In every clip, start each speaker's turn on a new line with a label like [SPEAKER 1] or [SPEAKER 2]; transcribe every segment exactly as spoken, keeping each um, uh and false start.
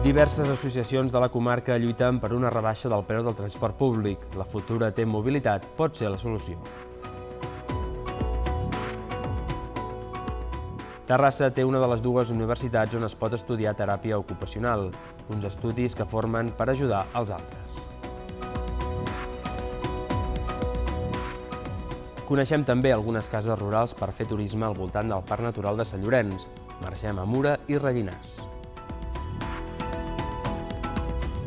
[SPEAKER 1] Diverses associacions de la comarca lluiten per una rebaixa del preu del transport públic. La futura T-mobilitat pot ser la solució. Terrassa té una de les dues universitats on es pot estudiar teràpia ocupacional, uns estudis que formen per ajudar els altres. Coneixem també algunes cases rurals per fer turisme al voltant del Parc Natural de Sant Llorenç. Marxem a Mura i Rellinars.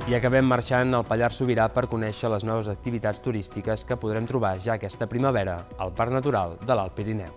[SPEAKER 1] I acabem marxant al Pallars Sobirà per conèixer les noves activitats turístiques que podrem trobar ja aquesta primavera al Parc Natural de l'Alt Pirineu.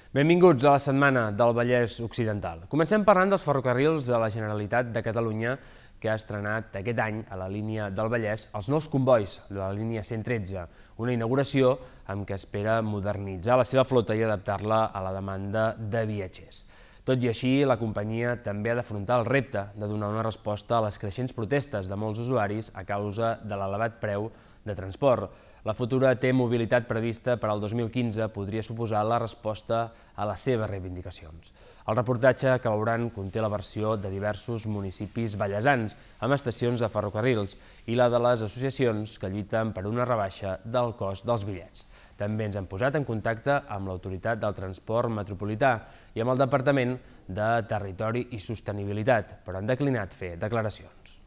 [SPEAKER 1] Benvinguts a la setmana del Vallès Occidental. Comencem parlant dels ferrocarrils de la Generalitat de Catalunya que ha estrenat aquest any a la línia del Vallès els nous combois de la línia cent tretze, una inauguració amb què espera modernitzar la seva flota i adaptar-la a la demanda de viatgers. Tot i així, la companyia també ha d'afrontar el repte de donar una resposta a les creixents protestes de molts usuaris a causa de l'elevat preu de transport. La futura T-mobilitat prevista per al dos mil quinze podria suposar la resposta a les seves reivindicacions. El reportatge que veuran conté la versió de diversos municipis vallesans amb estacions de ferrocarrils i la de les associacions que lluiten per una rebaixa del cost dels bitllets. També ens hem posat en contacte amb l'Autoritat del Transport Metropolità i amb el Departament de Territori i Sostenibilitat, però han declinat fer declaracions.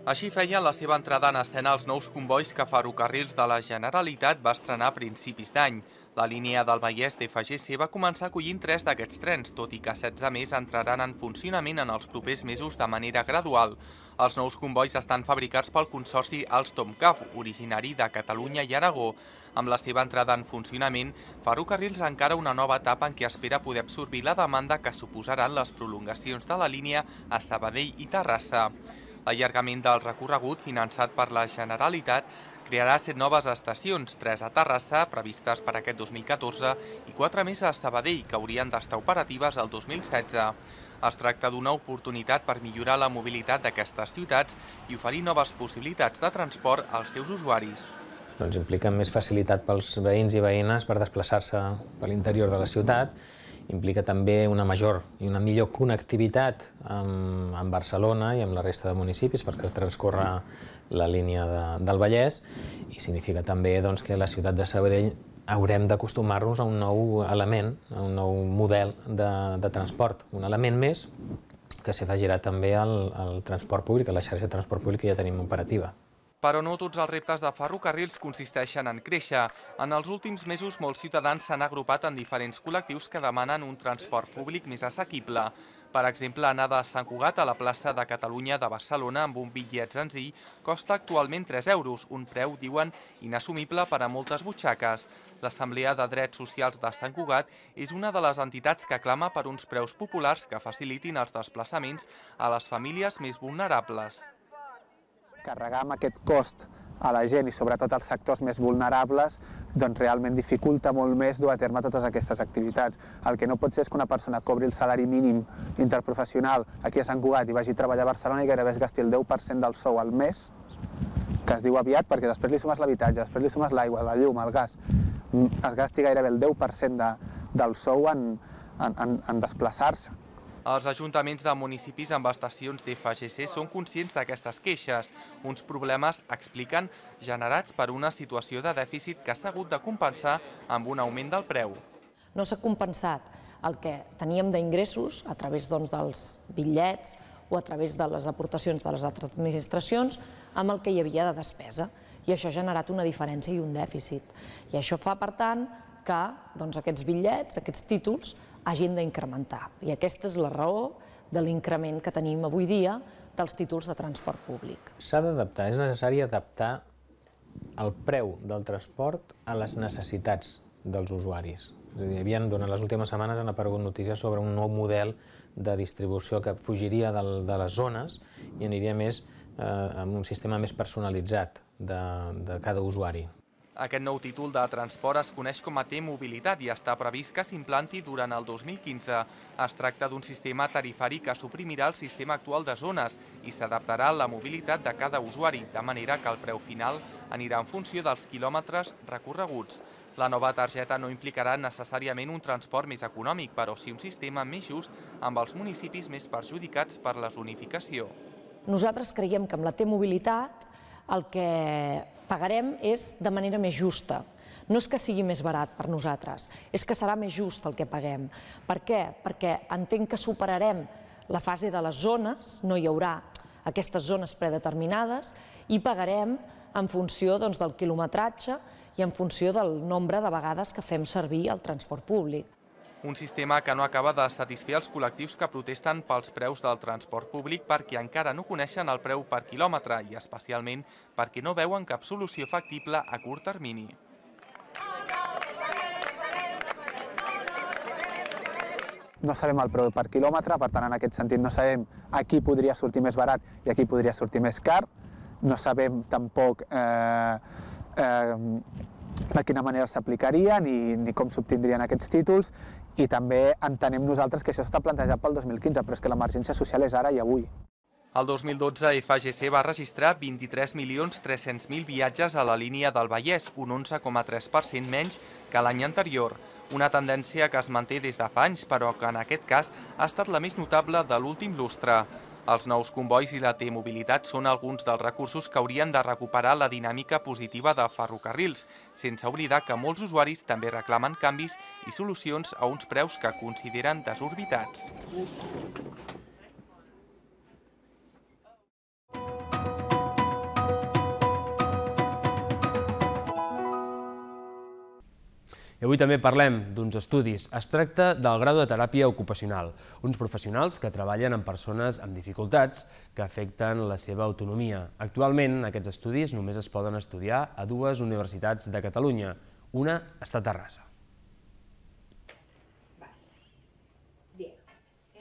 [SPEAKER 2] Així feien la seva entrada en escena els nous combois que Ferrocarrils de la Generalitat va estrenar a principis d'any. La línia del Vallès d'F G C va començar acollint tres d'aquests trens, tot i que setze més entraran en funcionament en els propers mesos de manera gradual. Els nous combois estan fabricats pel consorci Alstom-C A F, originari de Catalunya i Aragó. Amb la seva entrada en funcionament, Ferrocarrils encara una nova etapa en què espera poder absorbir la demanda que suposaran les prolongacions de la línia a Sabadell i Terrassa. L'allargament del recorregut, finançat per la Generalitat, crearà set noves estacions, tres a Terrassa, previstes per aquest dos mil catorze, i quatre més a Sabadell, que haurien d'estar operatives el dos mil setze. Es tracta d'una oportunitat per millorar la mobilitat d'aquestes ciutats i oferir noves possibilitats de transport als seus usuaris.
[SPEAKER 3] Doncs implica més facilitat pels veïns i veïnes per desplaçar-se per l'interior de la ciutat, implica també una major i una millor connectivitat amb, amb Barcelona i amb la resta de municipis perquè es transcorre la línia de, del Vallès i significa també doncs, que a la ciutat de Sabadell haurem d'acostumar-nos a un nou element, a un nou model de, de transport, un element més que s'afegirà també al, al transport públic, a la xarxa de transport públic que ja tenim operativa.
[SPEAKER 2] Però no tots els reptes de Ferrocarrils consisteixen en créixer. En els últims mesos, molts ciutadans s'han agrupat en diferents col·lectius que demanen un transport públic més assequible. Per exemple, anar de Sant Cugat a la plaça de Catalunya de Barcelona amb un bitllet senzill costa actualment tres euros, un preu, diuen, inassumible per a moltes butxaques. L'Assemblea de Drets Socials de Sant Cugat és una de les entitats que clama per uns preus populars que facilitin els desplaçaments a les famílies més vulnerables.
[SPEAKER 4] Carregar amb aquest cost a la gent i sobretot als sectors més vulnerables doncs realment dificulta molt més dur a terme totes aquestes activitats. El que no pot ser és que una persona cobri el salari mínim interprofessional aquí a Sant Cugat i vagi a treballar a Barcelona i gairebé es gasti el deu per cent del sou al mes, que es diu aviat perquè després li sumes l'habitatge, després li sumes l'aigua, la llum, el gas, es gasti gairebé el deu per cent de, del sou en, en, en desplaçar-se.
[SPEAKER 2] Els ajuntaments de municipis amb estacions d'F G C són conscients d'aquestes queixes, uns problemes, expliquen, generats per una situació de dèficit que s'ha hagut de compensar amb un augment del preu.
[SPEAKER 5] No s'ha compensat el que teníem d'ingressos a través doncs, dels bitllets o a través de les aportacions de les altres administracions amb el que hi havia de despesa. I això ha generat una diferència i un dèficit. I això fa, per tant, que doncs, aquests bitllets, aquests títols, hagin d'incrementar. I aquesta és la raó de l'increment que tenim avui dia dels títols de transport públic.
[SPEAKER 3] S'ha d'adaptar, és necessari adaptar el preu del transport a les necessitats dels usuaris. És a dir, havien, durant les últimes setmanes han aparegut notícies sobre un nou model de distribució que fugiria de les zones i aniria més amb un sistema més personalitzat de cada usuari.
[SPEAKER 2] Aquest nou títol de transport es coneix com a T-mobilitat i està previst que s'implanti durant el dos mil quinze. Es tracta d'un sistema tarifari que suprimirà el sistema actual de zones i s'adaptarà a la mobilitat de cada usuari, de manera que el preu final anirà en funció dels quilòmetres recorreguts. La nova targeta no implicarà necessàriament un transport més econòmic, però sí un sistema més just amb els municipis més perjudicats per la zonificació.
[SPEAKER 5] Nosaltres creiem que amb la T-mobilitat el que pagarem és de manera més justa. No és que sigui més barat per nosaltres, és que serà més just el que paguem. Per què? Perquè entenc que superarem la fase de les zones, no hi haurà aquestes zones predeterminades i pagarem en funció del quilometratge i en funció del nombre de vegades que fem servir el transport públic.
[SPEAKER 2] Un sistema que no acaba de satisfer els col·lectius que protesten pels preus del transport públic perquè encara no coneixen el preu per quilòmetre i especialment perquè no veuen cap solució factible a curt termini.
[SPEAKER 4] No sabem el preu per quilòmetre, per tant, en aquest sentit no sabem a qui podria sortir més barat i a qui podria sortir més car. No sabem tampoc eh, eh, de quina manera s'aplicaria ni, ni com s'obtindrien aquests títols i també entenem nosaltres que això està plantejat pel dos mil quinze, però és que l'emergència social és ara i avui.
[SPEAKER 2] El dos mil dotze F G C va registrar vint-i-tres milions tres-cents mil viatges a la línia del Vallès, un onze coma tres per cent menys que l'any anterior. Una tendència que es manté des de fa anys, però que en aquest cas ha estat la més notable de l'últim lustre. Els nous combois i la T-mobilitat són alguns dels recursos que haurien de recuperar la dinàmica positiva de ferrocarrils, sense oblidar que molts usuaris també reclamen canvis i solucions a uns preus que consideren desorbitats.
[SPEAKER 1] I avui també parlem d'uns estudis. Es tracta del grau de teràpia ocupacional, uns professionals que treballen amb persones amb dificultats que afecten la seva autonomia. Actualment, aquests estudis només es poden estudiar a dues universitats de Catalunya. Una està a Terrassa.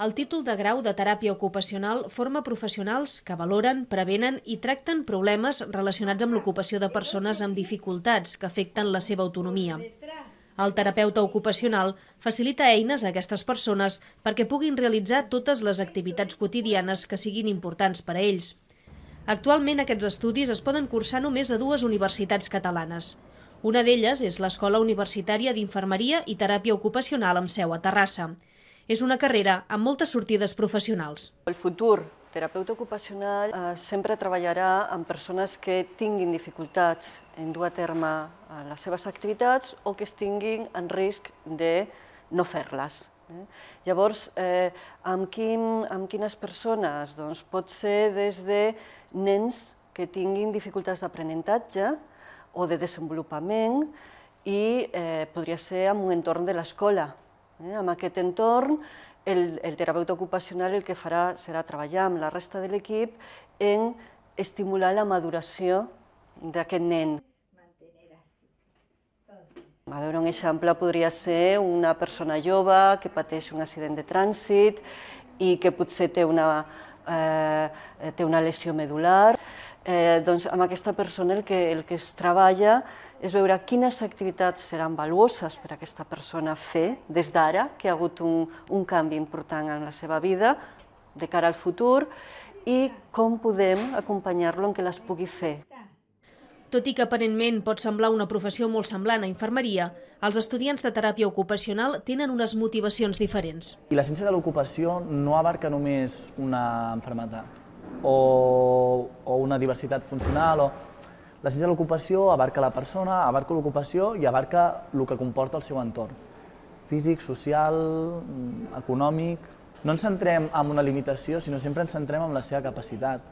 [SPEAKER 6] El títol de grau de teràpia ocupacional forma professionals que valoren, prevenen i tracten problemes relacionats amb l'ocupació de persones amb dificultats que afecten la seva autonomia. El terapeuta ocupacional facilita eines a aquestes persones perquè puguin realitzar totes les activitats quotidianes que siguin importants per a ells. Actualment aquests estudis es poden cursar només a dues universitats catalanes. Una d'elles és l'Escola Universitària d'Infermeria i Teràpia Ocupacional amb seu a Terrassa. És una carrera amb moltes sortides professionals.
[SPEAKER 7] El futur terapeuta ocupacional eh, sempre treballarà amb persones que tinguin dificultats en dur a terme les seves activitats o que estiguin en risc de no fer-les. Eh? Llavors, eh, amb, quin, amb quines persones? Doncs pot ser des de nens que tinguin dificultats d'aprenentatge o de desenvolupament i eh, podria ser en un entorn de l'escola. Eh? En aquest entorn, el, el terapeuta ocupacional el que farà serà treballar amb la resta de l'equip en estimular la maduració d'aquest nen. A veure, un exemple podria ser una persona jove que pateix un accident de trànsit i que potser té una, eh, té una lesió medular. Eh, doncs amb aquesta persona el que, el que es treballa és veure quines activitats seran valuoses per a aquesta persona fer des d'ara, que ha hagut un, un canvi important en la seva vida de cara al futur, i com podem acompanyar-lo en què les pugui fer.
[SPEAKER 6] Tot i que aparentment pot semblar una professió molt semblant a infermeria, els estudiants de teràpia ocupacional tenen unes motivacions diferents.
[SPEAKER 8] I la ciència de l'ocupació no abarca només una malaltia o, o una diversitat funcional. O... La ciència de l'ocupació abarca la persona, abarca l'ocupació i abarca el que comporta el seu entorn. Físic, social, econòmic... No ens centrem en una limitació, sinó sempre ens centrem en la seva capacitat.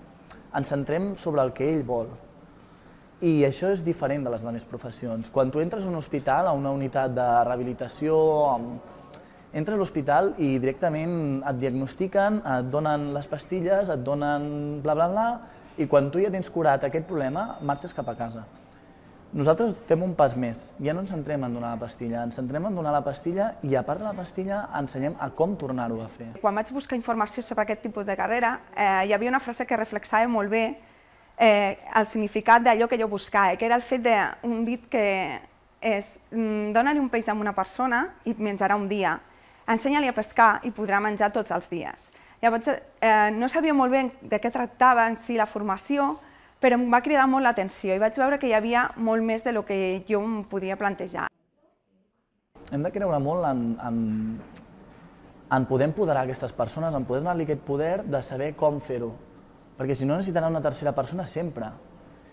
[SPEAKER 8] Ens centrem sobre el que ell vol. I això és diferent de les altres professions. Quan tu entres a un hospital, a una unitat de rehabilitació, entres a l'hospital i directament et diagnostiquen, et donen les pastilles, et donen bla bla bla, i quan tu ja tens curat aquest problema, marxes cap a casa. Nosaltres fem un pas més, ja no ens centrem en donar la pastilla, ens centrem en donar la pastilla i a part de la pastilla ensenyem a com tornar-ho a fer.
[SPEAKER 9] Quan vaig buscar informació sobre aquest tipus de carrera, eh, hi havia una frase que reflexava molt bé el significat d'allò que jo buscava, que era el fet d'un dit que és dona-li un peix a una persona i menjarà un dia, ensenya-li a pescar i podrà menjar tots els dies. Llavors, no sabia molt bé de què tractava en si la formació, però em va cridar molt l'atenció i vaig veure que hi havia molt més del que jo em podia plantejar.
[SPEAKER 8] Hem de creure molt en poder empoderar aquestes persones, en poder donar-li aquest poder de saber com fer-ho, perquè si no necessitarà una tercera persona sempre.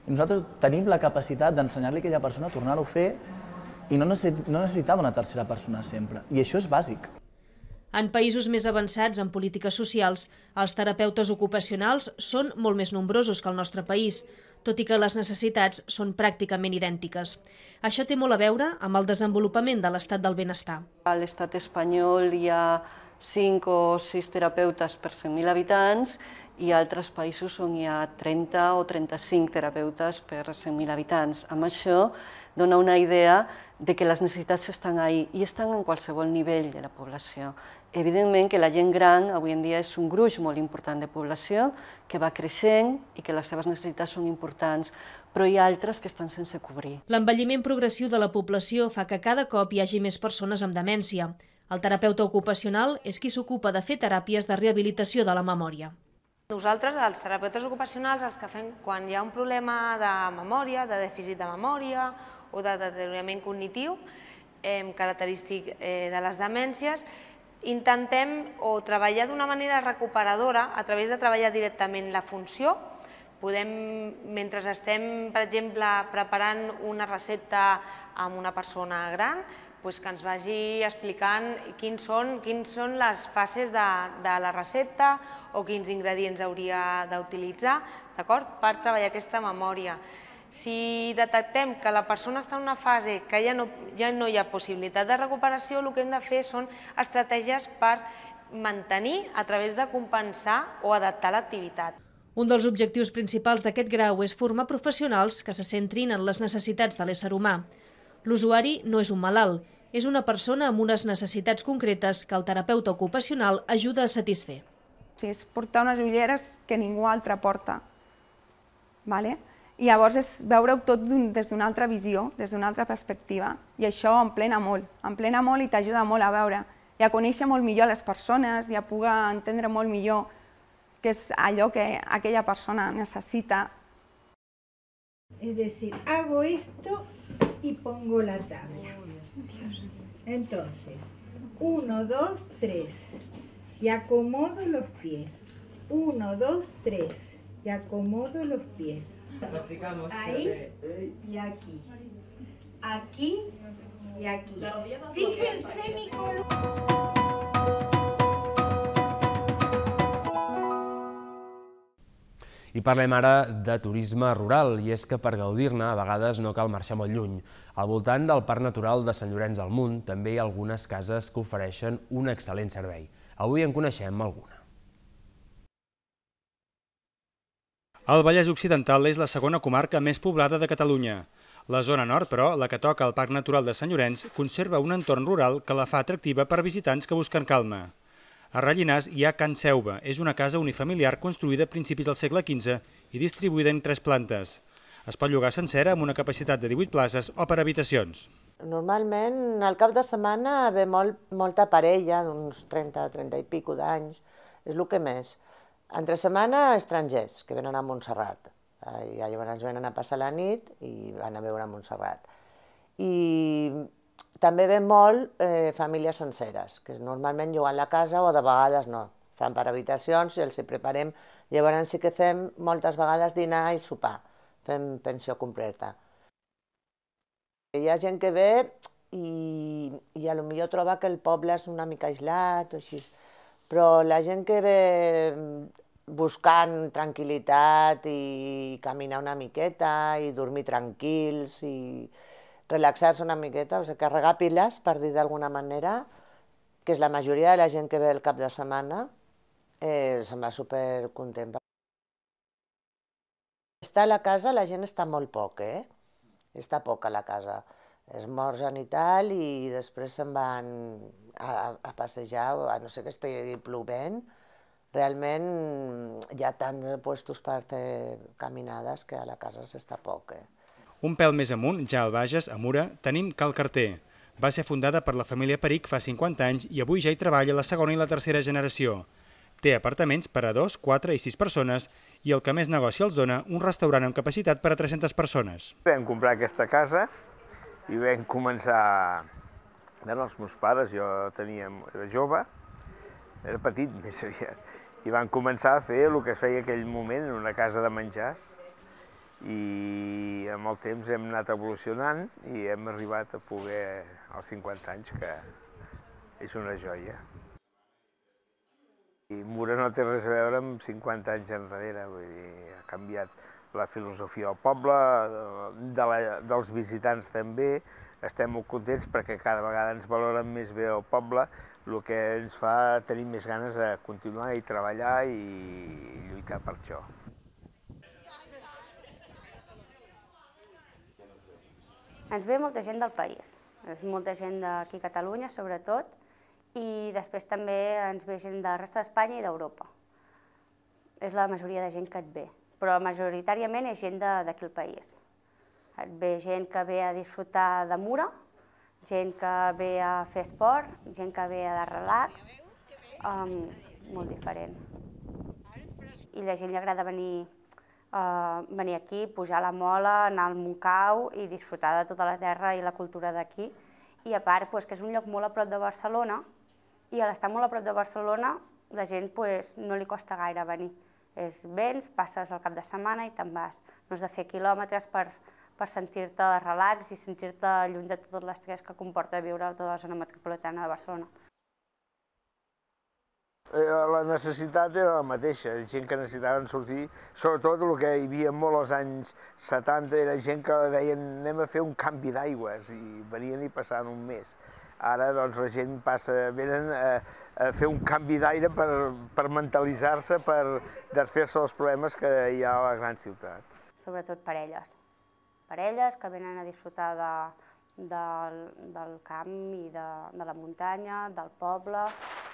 [SPEAKER 8] I nosaltres tenim la capacitat d'ensenyar-li a aquella persona a tornar-ho a fer i no necessitar d'una tercera persona sempre. I això és bàsic.
[SPEAKER 6] En països més avançats en polítiques socials, els terapeutes ocupacionals són molt més nombrosos que el nostre país, tot i que les necessitats són pràcticament idèntiques. Això té molt a veure amb el desenvolupament de l'estat del benestar.
[SPEAKER 7] A l'estat espanyol hi ha cinc o sis terapeutes per cent mil habitants i a altres països on hi ha trenta o trenta-cinc terapeutes per cent mil habitants. Amb això dona una idea de que les necessitats estan ahí i estan en qualsevol nivell de la població. Evidentment que la gent gran avui en dia és un gruix molt important de població que va creixent i que les seves necessitats són importants, però hi ha altres que estan sense cobrir.
[SPEAKER 6] L'envelliment progressiu de la població fa que cada cop hi hagi més persones amb demència. El terapeuta ocupacional és qui s'ocupa de fer teràpies de rehabilitació de la memòria.
[SPEAKER 10] Nosaltres, els terapeutes ocupacionals, els que fem quan hi ha un problema de memòria, de dèficit de memòria o de deteriorament cognitiu característic de les demències, intentem o treballar d'una manera recuperadora a través de treballar directament la funció. Podem, mentre estem, per exemple, preparant una recepta amb una persona gran, que ens vagi explicant quins són les fases de la recepta o quins ingredients hauria d'utilitzar per treballar aquesta memòria. Si detectem que la persona està en una fase que ja no hi ha possibilitat de recuperació, el que hem de fer són estratègies per mantenir a través de compensar o adaptar l'activitat.
[SPEAKER 6] Un dels objectius principals d'aquest grau és formar professionals que se centrin en les necessitats de l'ésser humà. L'usuari no és un malalt, és una persona amb unes necessitats concretes que el terapeuta ocupacional ajuda a satisfer.
[SPEAKER 9] És portar unes ulleres que ningú altre porta. I llavors és veure-ho tot des d'una altra visió, des d'una altra perspectiva. I això emplena molt, emplena molt i t'ajuda molt a veure i a conèixer molt millor les persones i a poder entendre molt millor què és allò que aquella persona necesita.
[SPEAKER 11] Es decir, hago esto y pongo la tabla. Entonces, uno, dos, tres, y acomodo los pies. Uno, dos, tres, y acomodo los pies. Ahí y aquí. Aquí y aquí. Fíjense mi columna.
[SPEAKER 1] I parlem ara de turisme rural, i és que per gaudir-ne a vegades no cal marxar molt lluny. Al voltant del Parc Natural de Sant Llorenç del Munt també hi ha algunes cases que ofereixen un excel·lent servei. Avui en coneixem alguna.
[SPEAKER 12] El Vallès Occidental és la segona comarca més poblada de Catalunya. La zona nord, però, la que toca al Parc Natural de Sant Llorenç, conserva un entorn rural que la fa atractiva per visitants que busquen calma. A Rellinars hi ha Can Seuva, és una casa unifamiliar construïda a principis del segle quinze i distribuïda en tres plantes. Es pot llogar sencera amb una capacitat de divuit places o per habitacions.
[SPEAKER 13] Normalment al cap de setmana ve molta parella, d'uns trenta, trenta i pico d'anys, és el que més. Entre setmana estrangers que venen a Montserrat, i llavors venen a passar la nit i van a veure a Montserrat. I també ve molt famílies senceres, que normalment lloguen la casa o de vegades no. Fan per habitacions i els hi preparem. Llavors sí que fem moltes vegades dinar i sopar, fem pensió completa. Hi ha gent que ve i potser troba que el poble és una mica aïllat o així, però la gent que ve buscant tranquil·litat i caminar una miqueta i dormir tranquils i relaxar-se una miqueta, o sigui, carregar piles, per dir d'alguna manera, que és la majoria de la gent que ve el cap de setmana, se'n va supercontent. Està a la casa, la gent està molt poc, eh? Està poc a la casa. Esmorzen i tal, i després se'n van a passejar, a no sé que estigui plovent, realment hi ha tants puestos per fer caminades que a la casa s'està poc.
[SPEAKER 12] Un pèl més amunt, ja al Bages, a Mura, tenim Cal Carter. Va ser fundada per la família Peric fa cinquanta anys i avui ja hi treballa la segona i la tercera generació. Té apartaments per a dos, quatre i sis persones i el que més negoci els dona, un restaurant amb capacitat per a tres-centes persones.
[SPEAKER 14] Vam comprar aquesta casa i vam començar... Els meus pares, jo tenia, era jove, era petit més aviat, i van començar a fer el que es feia en aquell moment en una casa de menjars i amb el temps hem anat evolucionant i hem arribat a poder, als cinquanta anys, que és una joia. I Mura no té res a veure amb cinquanta anys enrere, vull dir, ha canviat la filosofia del poble, de la, dels visitants també. Estem molt contents perquè cada vegada ens valoren més bé el poble, el que ens fa tenir més ganes de continuar i treballar i lluitar per això.
[SPEAKER 15] Ens ve molta gent del país, és molta gent d'aquí a Catalunya sobretot, i després també ens ve gent de la resta d'Espanya i d'Europa. És la majoria de gent que et ve, però majoritàriament és gent d'aquí al país. Et ve gent que ve a disfrutar de Mura, gent que ve a fer esport, gent que ve a de relax, molt diferent. I a la gent li agrada venir venir aquí, pujar a la Mola, anar al Montcau i disfrutar de tota la terra i la cultura d'aquí. I a part, que és un lloc molt a prop de Barcelona, i a l'estar molt a prop de Barcelona, la gent no li costa gaire venir. Vens, passes el cap de setmana i te'n vas. No has de fer quilòmetres per sentir-te de relax i sentir-te lluny de tot l'estrès que comporta viure a tota la zona metropolitana de Barcelona.
[SPEAKER 14] La necessitat era la mateixa, gent que necessitaven sortir, sobretot el que hi havia molt als anys setanta, era gent que deien anem a fer un canvi d'aigües i venien i passaven un mes. Ara doncs la gent passa, venen a fer un canvi d'aire per mentalitzar-se, per desfer-se dels problemes que hi ha a la gran ciutat.
[SPEAKER 15] Sobretot parelles, parelles que venen a disfrutar del camp i de la muntanya, del poble,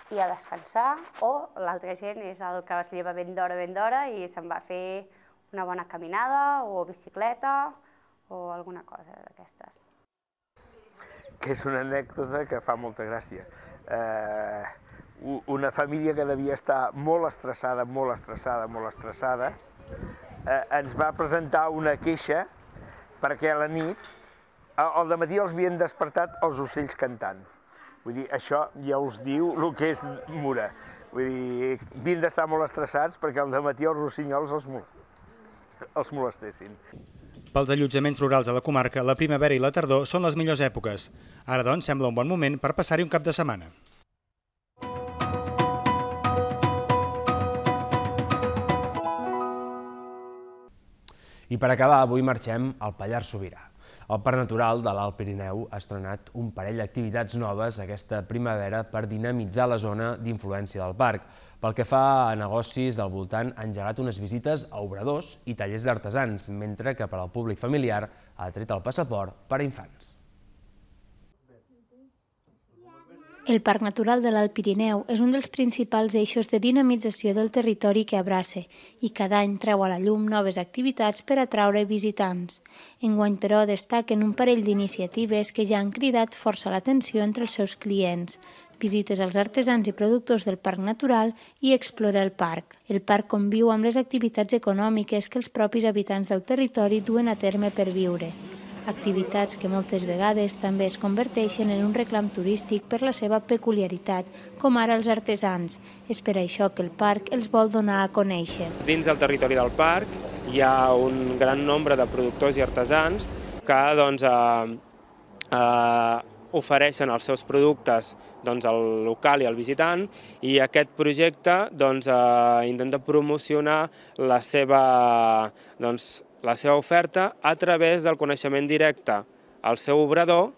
[SPEAKER 15] i a descansar, o l'altra gent és el que es lleva ben d'hora, ben d'hora i se'n va a fer una bona caminada o bicicleta o alguna cosa d'aquestes.
[SPEAKER 14] Que és una anècdota que fa molta gràcia. Una família que devia estar molt estressada, molt estressada, molt estressada, ens va presentar una queixa perquè a la nit, al dematí els havien despertat els ocells cantant. Vull dir, això ja us diu el que és Mura. Vull dir, havien d'estar molt estressats perquè al dematí els rossinyols els molestessin.
[SPEAKER 12] Pels allotjaments rurals a la comarca, la primavera i la tardor són les millors èpoques. Ara, doncs, sembla un bon moment per passar-hi un cap de setmana.
[SPEAKER 1] I per acabar, avui marxem al Pallars Sobirà. El Parc Natural de l'Alt Pirineu ha estrenat un parell d'activitats noves aquesta primavera per dinamitzar la zona d'influència del parc. Pel que fa a negocis del voltant, ha engegat unes visites a obradors i tallers d'artesans, mentre que per al públic familiar ha tret el passaport per a infants.
[SPEAKER 16] El Parc Natural de l'Alt Pirineu és un dels principals eixos de dinamització del territori que abraça i cada any treu a la llum noves activitats per atraure visitants. Enguany, però, destaquen un parell d'iniciatives que ja han cridat força l'atenció entre els seus clients. Visites als artesans i productors del Parc Natural i Explora el Parc. El parc conviu amb les activitats econòmiques que els propis habitants del territori duen a terme per viure. Activitats que moltes vegades també es converteixen en un reclam turístic per la seva peculiaritat, com ara els artesans. És per això que el parc els vol donar a conèixer.
[SPEAKER 17] Dins del territori del parc hi ha un gran nombre de productors i artesans que doncs, eh, eh, ofereixen els seus productes doncs, al local i al visitant, i aquest projecte doncs, eh, intenta promocionar la seva, doncs, la seva oferta a través del coneixement directe al seu obrador,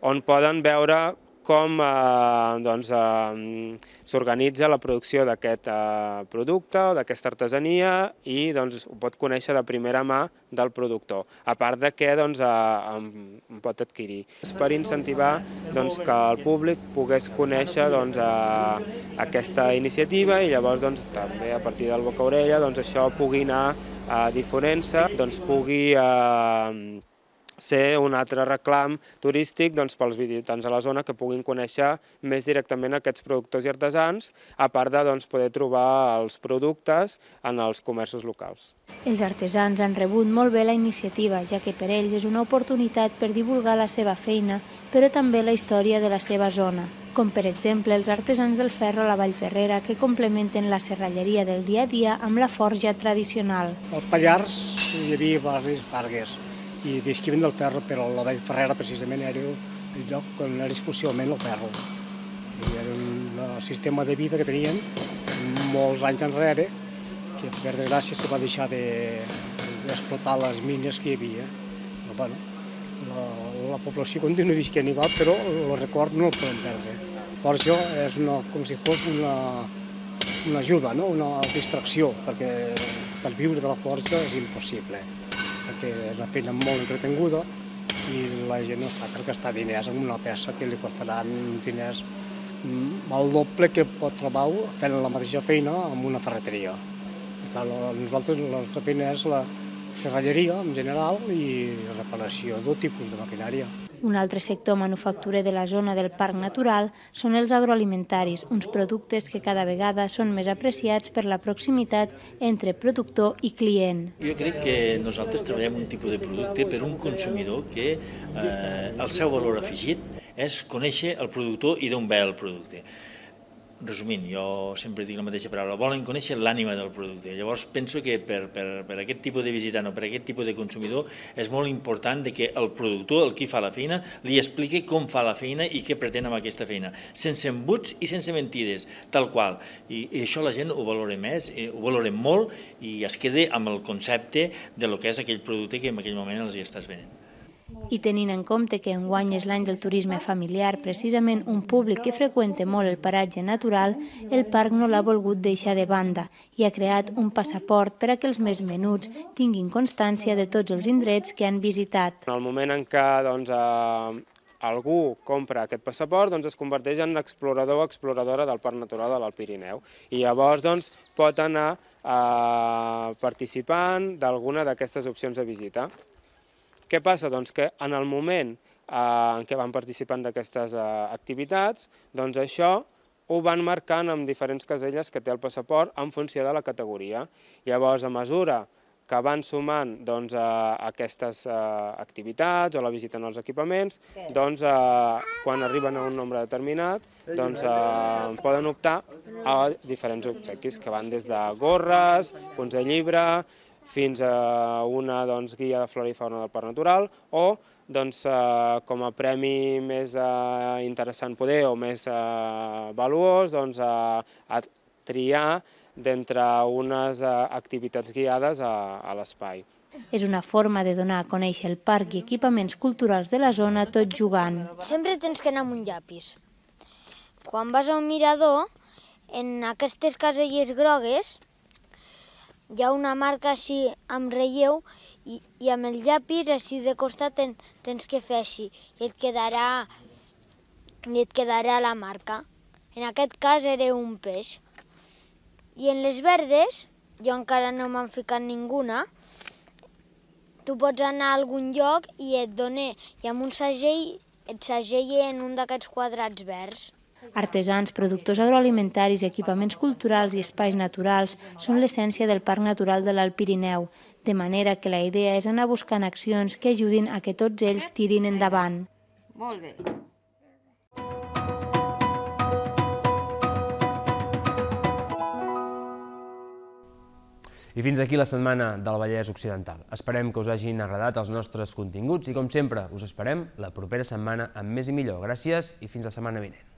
[SPEAKER 17] on poden veure com s'organitza la producció d'aquest producte o d'aquesta artesania i ho pot conèixer de primera mà del productor, a part de què en pot adquirir. És per incentivar que el públic pogués conèixer aquesta iniciativa i llavors també a partir del boca a orella això pugui anar difonent-se, pugui ser un altre reclam turístic pels visitants a la zona que puguin conèixer més directament aquests productors i artesans, a part de poder trobar els productes en els comerços locals.
[SPEAKER 16] Els artesans han rebut molt bé la iniciativa, ja que per ells és una oportunitat per divulgar la seva feina, però també la història de la seva zona, com per exemple els artesans del ferro a la Vallferrera que complementen la serralleria del dia a dia amb la forja tradicional.
[SPEAKER 18] Al Pallars hi havia barris fargues i visquien del ferro, però la Vallferrera precisament era el lloc on era exclusivament el ferro. Era un sistema de vida que tenien molts anys enrere, que per desgràcia se va deixar d'explotar les mines que hi havia. La població continua visquent igual, però el record no el podem perdre. La forja és com si fos una ajuda, una distracció, perquè per viure de la forja és impossible, perquè és una feina molt entretinguda i la gent no està per gastar diners en una peça que li costaran diners el doble que pot trobar fent la mateixa feina en una ferreteria. Nosaltres la nostra feina és la serralleria en general i reparació de tot tipus de maquinària.
[SPEAKER 16] Un altre sector manufacturer de la zona del Parc Natural són els agroalimentaris, uns productes que cada vegada són més apreciats per la proximitat entre productor i client.
[SPEAKER 19] Jo crec que nosaltres treballem un tipus de producte per un consumidor que el seu valor afegit és conèixer el productor i d'on ve el producte. Resumint, jo sempre dic la mateixa paraula, volen conèixer l'ànima del producte. Llavors penso que per aquest tipus de visitant o per aquest tipus de consumidor és molt important que el productor, el qui fa la feina, li expliqui com fa la feina i què pretén amb aquesta feina, sense embuts i sense mentides, tal qual. I això la gent ho valora més, ho valora molt i es queda amb el concepte del que és aquell producte que en aquell moment els hi estàs venent.
[SPEAKER 16] I tenint en compte que enguany és l'any del turisme familiar, precisament un públic que freqüenta molt el paratge natural, el parc no l'ha volgut deixar de banda i ha creat un passaport per a que els més menuts tinguin constància de tots els indrets que han visitat.
[SPEAKER 17] En el moment en què algú compra aquest passaport, es converteix en explorador o exploradora del Parc Natural de l'Alt Pirineu i llavors pot anar participant d'alguna d'aquestes opcions de visita. Què passa? Doncs que en el moment en què van participant d'aquestes activitats, doncs això ho van marcant amb diferents caselles que té el passaport en funció de la categoria. Llavors, a mesura que van sumant aquestes activitats o la visita als equipaments, doncs quan arriben a un nombre determinat, doncs poden optar a diferents obsequis que van des de gorres, punts de llibre, fins a una guia de flora i fauna del Parc Natural o com a premi més interessant poder o més valuós a triar d'entre unes activitats guiades a l'espai.
[SPEAKER 16] És una forma de donar a conèixer el parc i equipaments culturals de la zona tot jugant.
[SPEAKER 20] Sempre tens que anar amb un llapis. Quan vas a un mirador, en aquestes caselles grogues, hi ha una marca així amb relleu i amb el llapis així de costat tens que fer així i et quedarà la marca. En aquest cas era un peix. I en les verdes, jo encara no m'han ficat ninguna, tu pots anar a algun lloc i et dona, i amb un segell et segella en un d'aquests quadrats verds.
[SPEAKER 16] Artesans, productors agroalimentaris, equipaments culturals i espais naturals són l'essència del Parc Natural de l'Alt Pirineu, de manera que la idea és anar buscant accions que ajudin a que tots ells tirin endavant.
[SPEAKER 10] Molt bé.
[SPEAKER 1] I fins aquí la setmana del Vallès Occidental. Esperem que us hagin agradat els nostres continguts i, com sempre, us esperem la propera setmana amb més i millor. Gràcies i fins la setmana vinent.